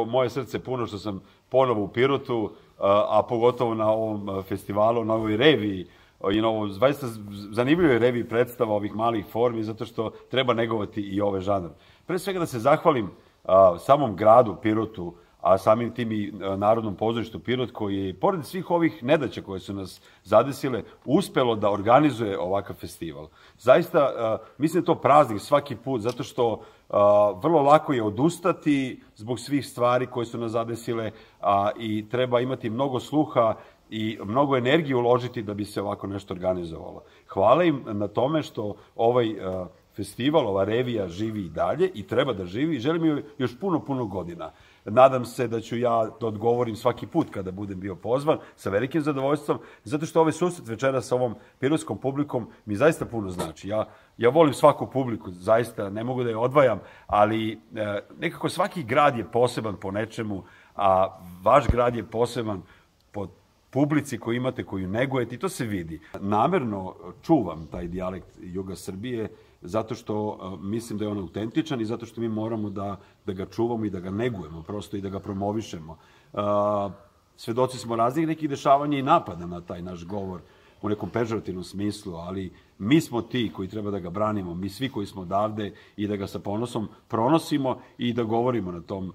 Moje srce puno što sam ponovo u Pirotu, a pogotovo na ovom festivalu, na ovoj reviji, i na ovoj zaista zanimljivoj reviji predstava ovih malih formi, zato što treba negovati i ove žanr. Pre svega da se zahvalim samom gradu Pirotu, a samim tim i Narodnom pozorištu Pirot, koji je, pored svih ovih nedaća koje su nas zadesile, uspelo da organizuje ovakav festival. Zaista, mislim da je to praznik svaki put, zato što vrlo lako je odustati zbog svih stvari koje su nas zadesile i treba imati mnogo sluha i mnogo energije uložiti da bi se ovako nešto organizovalo. Hvala im na tome što ovaj festival, ova revija živi i dalje i treba da živi i želim joj još puno godina. Nadam se da ću ja da odgovorim svaki put kada budem bio pozvan, sa velikim zadovoljstvom, zato što ovaj susret večera sa ovom pirotskom publikom mi zaista puno znači. Ja volim svaku publiku, zaista ne mogu da je odvajam, ali nekako svaki grad je poseban po nečemu, a vaš grad je poseban po publici koju imate, koju negujete i to se vidi. Namerno čuvam taj dijalekt juga Srbije zato što mislim da je on autentičan i zato što mi moramo da ga čuvamo i da ga negujemo prosto i da ga promovišemo. Svedoci smo raznih nekih dešavanja i napada na taj naš govor u nekom pežorativnom smislu, ali mi smo ti koji treba da ga branimo, mi svi koji smo odavde i da ga sa ponosom pronosimo i da govorimo na tom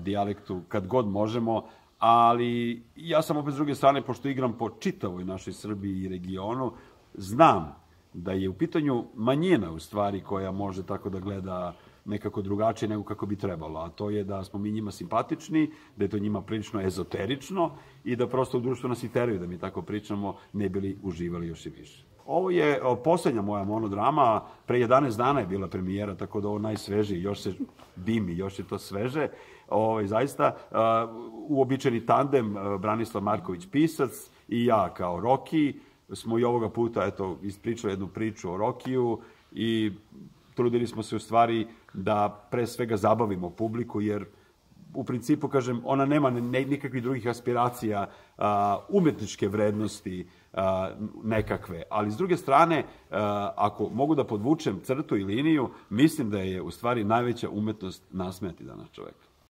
dijalektu kad god možemo. Ali ja sam opet s druge strane, pošto igram po čitavoj našoj Srbiji i regionu, znam da je u pitanju manjina u stvari koja može tako da gleda nekako drugačije nego kako bi trebalo, a to je da smo mi njima simpatični, da je to njima prilično ezoterično i da prosto u društvu nas i teraju da mi tako pričamo, ne bili uživali još i više. Ovo je poslednja moja monodrama, pre 11 dana je bila premijera, tako da ovo najsvežiji, još se dimi, još je to sveže. Zaista, uobičajeni tandem Branislav Marković pisac i ja kao Roki smo i ovoga puta ispričali jednu priču o Rokiju i trudili smo se u stvari da pre svega zabavimo publiku, jer u principu, kažem, ona nema nikakvih drugih aspiracija, umetničke vrednosti nekakve. Ali s druge strane, ako mogu da podvučem crtu i liniju, mislim da je u stvari najveća umetnost nasmejati danas čoveka.